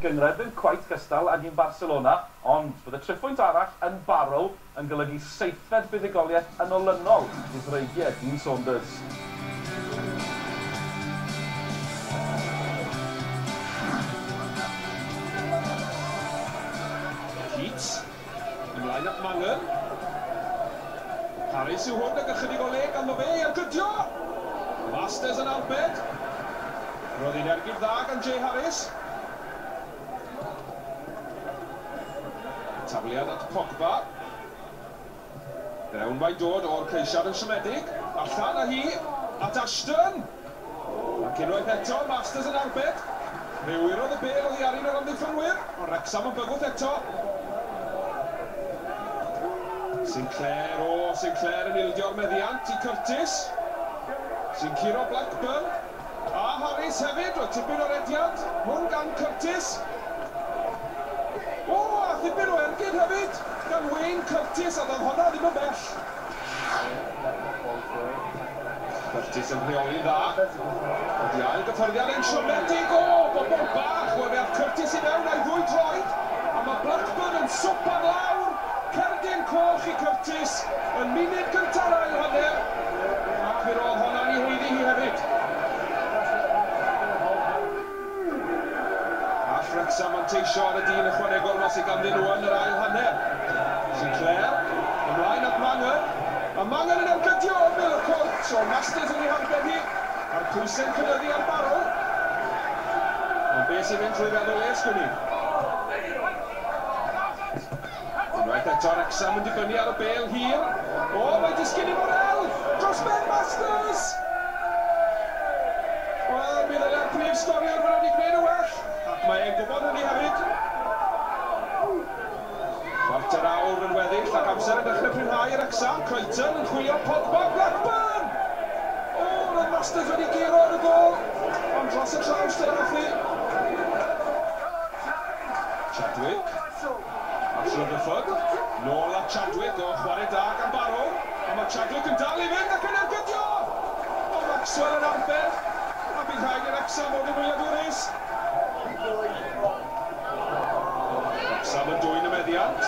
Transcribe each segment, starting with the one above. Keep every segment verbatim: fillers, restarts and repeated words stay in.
gynghrair, ddim cweit cystal ag un Barcelona, ond bydd y triphwynt arall yn Barrow yn golygu seithfed buddugoliaeth yn olynol i ddreigiau Dean Saunders. Keats, ymlaen at Mangan. Harris yw hwn ag ychydig o le ganddo fe, ergydio! Masters yn arbed. Roedd hi'n ergyd dda gan Jay Harris. Tafliad at Pogba. Fewn mae'n dod o'r ceisiad yn siomedig. Allan â hi at Ashton. Ac unwaith eto, Masters yn arbed. Fe wyrodd y bêl oddi ar un o'r amddiffynwyr, ond Wrecsam yn bygwth eto. Sinclair, o, Sinclair yn ildio'r meddiant i Curtis. Sy'n curo Blackburn. A Harris hefyd, roedd tipyn o rediad. Hwn gan Curtis. O, a thipyn o ergyd hefyd gan Wayne Curtis, a ddodd hwnna ddim yn bell. Curtis yn rheoli'n dda. Wedi ail gyffyrddiad yn siomedig. O, bobl bach, wel fe ath Curtis i mewn a'i ddwy droed. A mae Blackburn yn swpan lawr. Cerdyn coch i Curtis yn munud gynta'r ail hanner. Ac mi roedd honna'n ei haeddu hi hefyd. All Wrecsam manteisio ar y dyn ychwanegol ma sydd ganddyn nhw yn yr ail hanner. Sinclair, ymlaen at Mangan. A Mangan yn ergydio ymyl y cwrt. O Masters yn ei harbed hi. A'r pwysau'n cynyddu ar Barrow. Ond beth sy'n mynd trwy feddwl e, sgwn i? Unwaith eto Wrecsam yn dibynnu ar y bêl hir. O, mae disgyn i Morel! Dros ben Masters! Wel, mi ddyle'r prif sgoriwr fod wedi gwneud yn well. Ac mae e'n gwybod hynny hefyd. Chwarter awr yn weddill ac amser yn dechrau prinhau i Wrecsam. Crichton yn chwilio Pogba, Blackburn! O, roedd Masters wedi guro ar y gôl, ond dros y trawst yr ath hi. Chadwick. At Rutherford, nôl at Chadwick, o chwarae da gan Barrow, a mae Chadwick yn dal i fynd ac yn ergydio! O, Maxwell yn arbed, a bydd rhaid i'r Wrecsam fod yn wyliadwrus. Wrecsam yn dwyn y meddiant.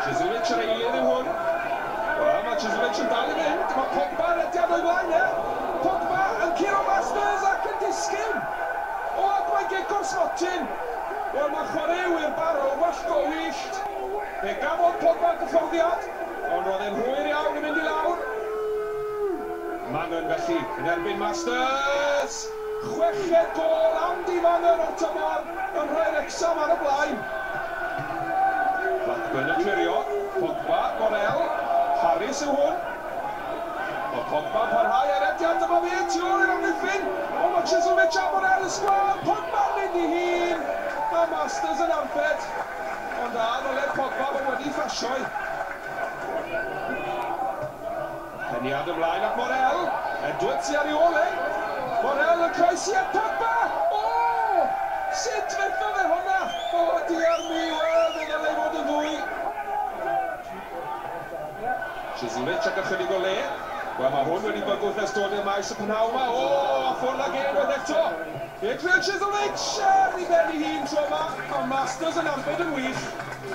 Chislovich yr eilydd yw hwn. Wel, mae Chislovich yn dal i fynd, mae Pogba yn rediad o'i flaen e. Pogba yn curo Masters ac yn disgyn. O, ac mae'n gic o'r smotyn. Wel, mae chwaraewyr Barrow wallgo wyllt. Fe gafodd Pogba gyffyrddiad, ond roedd e'n hwyr iawn i mynd i lawr. Mangan felly, yn erbyn Masters! Chweched gôl Andy Mangan o'r tymor yn rhoi Wrecsam ar y blaen. Blackburn yn clirio, Pogba, Morel, Harris yw hwn. Mae Pogba yn parhau ar rediad, dyma fe tu ôl i'r amddiffyn. O, mae Chislovich a Morel yn sgwâr, Pogba'n mynd i hun, a Masters yn arbed. Ond a ddyle Pogba fod wedi ffasioi. Peniad ymlaen at Morel. Edwards sy ar ei ôl e. Morel yn croesi at Pogba! O! Sut fethodd e hwnna? O, diar mi, wel, fe ddylai fod yn ddwy. Chislovich ac ychydig o le. Wel, mae hwn wedi bygwth ers dod i'r maes y prynhawn yma. O, a ffwrdd ag e unwaith eto. Adrian Chislovich ar ei ben ei hun tro yma, a Masters yn arbed yn wych.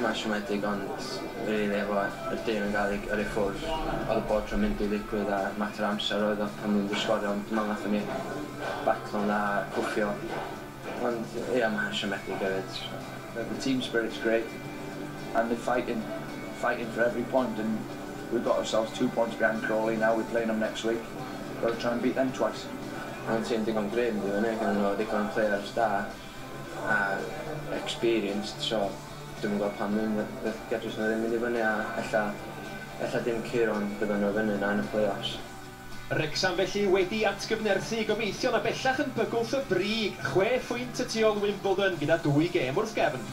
Mae'n siomedig, ond really efo y dyn yn gael ei yrru ffwrdd, oedd y bod tro'n mynd i ddigwydd a mater amser oedd o pan nhw'n mynd i sgorio, ond dwi'n meddwl nathon ni batlo'n dda a cwffio. Ond ie, mae'n siomedig hefyd. The team spirit's great and they're fighting, fighting for every point, and we've got ourselves two points behind Crawley now, we're playing them next week. Got to try and beat them twice. Mae'n tîm digon gryf yn fyny, gyda nhw digon players da a experienced, so dwi'm yn gweld pam ddim, gedrys nhw ddim mynd i fyny a ella, ella dim curo ond bydden nhw fyny na yn y play-offs. Wrecsam felly wedi atgyfnerthu gobeithio na bellach yn bygwth y brig, chwe phwynt y tu ôl Wimbledon gyda dwy gêm wrth gefn.